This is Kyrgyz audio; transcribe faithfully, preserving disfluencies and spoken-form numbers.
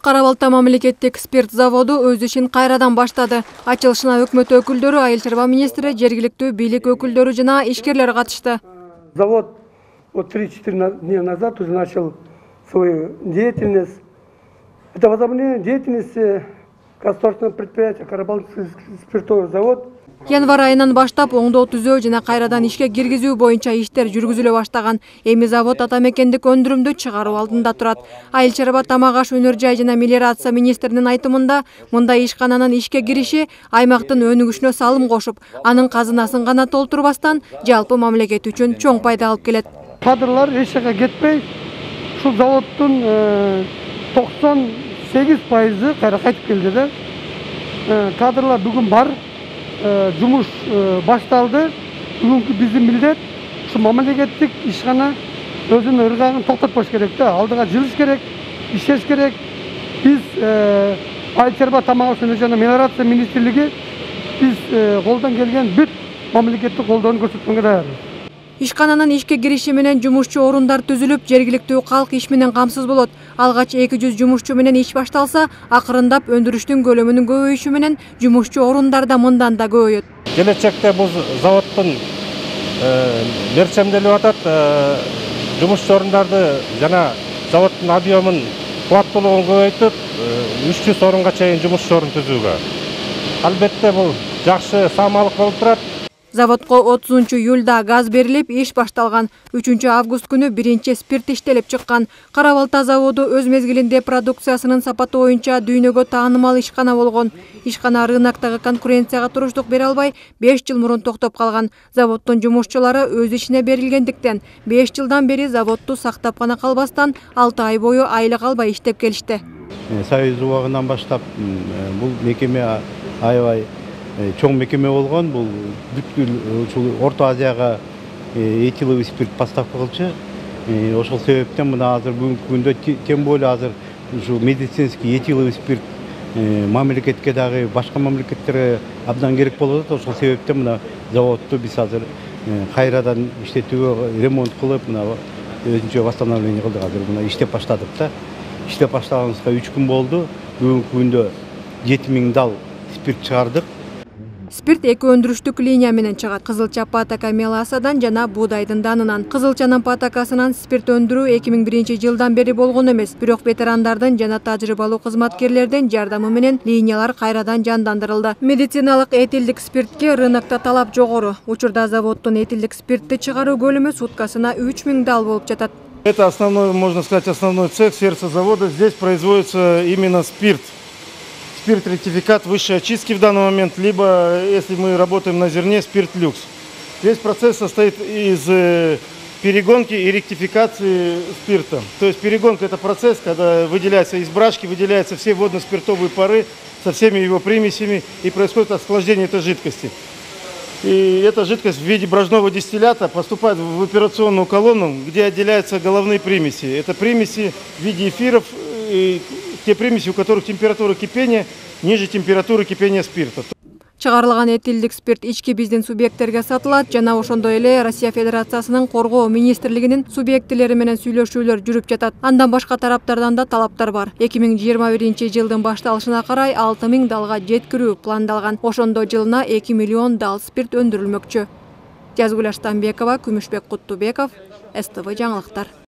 Кара-Балта мамлекеттик спирт заводу өз ишин кайрадан баштады. Ачылышына өкмөт өкүлдөрү, айыл чарба министри, жергиликтүү бийлик өкүлдөрү жана ишкерлер катышты. Завод вот три-четыре дня назад уже начал свою деятельность. Это возобновление деятельности государственного предприятия Кара-Балтский спиртовый завод. Январь айынан баштап оңдоо түзөө жана кайрадан ишке киргизүү боюнча иштер жүргүзүлө баштаган. Эми завод ата мекендик өндүрүмдү чыгаруу алдында турат. Айыл чарба, тамак аш, өнөр жай жана мелиорация министринин айтымында, мындай ишкананын ишке кириши аймактын өнүгүшүнө салым кошуп, анын казынасын гана толтурбастан, жалпы мамлекет үчүн чоң пайда алып келет. Кадрлар эч жака кетпей, ушул заводдун токсон сегиз пайызы кайра кайтып келди да. Кадрлар бүгүн бар. Жумуш башталды. Бүгүнкү биздин милдет ушу мамлекеттик ишкана өзүнүн ыргагын токтотпош керек да. Алдыга жылыш керек, иштеш керек. Биз айыл чарба, тамак аш, өнөр жай жана мелиорация министрлиги биз колдон келген бүт мамлекеттик колдоону көрсөткөнгө даярбыз. Ишкананын ишке кириши менен жумушчу орундар түзүлүп, жергиликтүү калк иш менен камсыз болот. Алгач эки жүз жумушчу менен иш башталса, акырындап өндүрүштүн көлөмүнүн көбөйүшү менен жумушчу орундар да мындан да көбөйөт. Келечекте бул заводдун мерчемделип атат, жумушчу орундарды жана заводдун объемын, кубаттуулугун көбөйтүп, үч жүз орунга чейин жумушчу орун түзүүгө. Албетте бул жакшы саамалык болуп турат. Заводко отузунчу июлда газ берилип, иш башталган. үчүнчү август күнү биринчи спирт иштелип чыккан. Кара-Балта заводу өз мезгилинде продукциясынын сапаты боюнча дүйнөгө таанымал ишкана болгон. Ишкана рыноктогу конкуренцияга туруштук бере албай, беш жыл мурун токтоп калган. Заводдун жумушчулары өз ишине берилгендиктен, беш жылдан бери заводду сактап гана калбастан, алты ай бою айлык албай иштеп келишти. Союз убагынан баштап бул мекеме аябай чоң мекеме болгон. Бул бүткүл ушул Орто Азияга этиловый спирт поставка кылчу. Ошол себептен мына азыр бүгүнкү күндө тем более азыр ушул медицинский этиловый спирт мамлекетке дагы, башка мамлекеттерге абдан керек болуп атат. Ошол себептен мына заводду биз азыр кайрадан иштетүүгө ремонт кылып, мына өзүнчө восстановление кылдык. Азыр мына иштеп баштадык да. Иштеп баштаганыбызга үч күн болду. Бүгүнкү күндө жети миң дал спирт чыгардык. Спирт эки өндүрүштүк линия менен чыгат. Кызылча патака меласадан жана буудайдын данынан. Кызылчанын патакасынан спирт өндүрүү эки миң биринчи жылдан бери болгон эмес. Бирок ветерандардын жана тажрыйбалуу кызматкерлердин жардамы менен линиялар кайрадан жандандырылды. Медициналык этилдик спиртке рынокто талап жогору. Учурда заводдун этилдик спиртти чыгаруу көлөмү суткасына үч миң дал болуп жатат. Это основной, можно сказать, основной цех, сердце завода. Здесь производится именно спирт. Спирт-ректификат высшей очистки в данный момент, либо, если мы работаем на зерне, спирт-люкс. Весь процесс состоит из перегонки и ректификации спирта. То есть перегонка – это процесс, когда выделяется из брашки, выделяются все водно-спиртовые пары со всеми его примесями, и происходит охлаждение этой жидкости. И эта жидкость в виде брожного дистиллята поступает в операционную колонну, где отделяются головные примеси. Это примеси в виде эфиров, и те примеси, у которых температура кипения ниже температуры кипения спирта. Чыгарылган этилдик спирт ички биздин субъекттерге сатылат жана ошондой эле Россия Федерациясынын коргоо министрлигинин субъектилери менен сүйлөшүүлөр жүрүп жатат. Андан башка тараптардан да талаптар бар. эки миң жыйырма биринчи жылдын башталышына карай алты миң далга жеткирүү пландалган. Ошондо жылына эки миллион дал спирт өндүрүлмөкчү. Жазгүл Аштанбекова, Күмүшбек Куттубеков, эс тэ вэ жаңылыктар.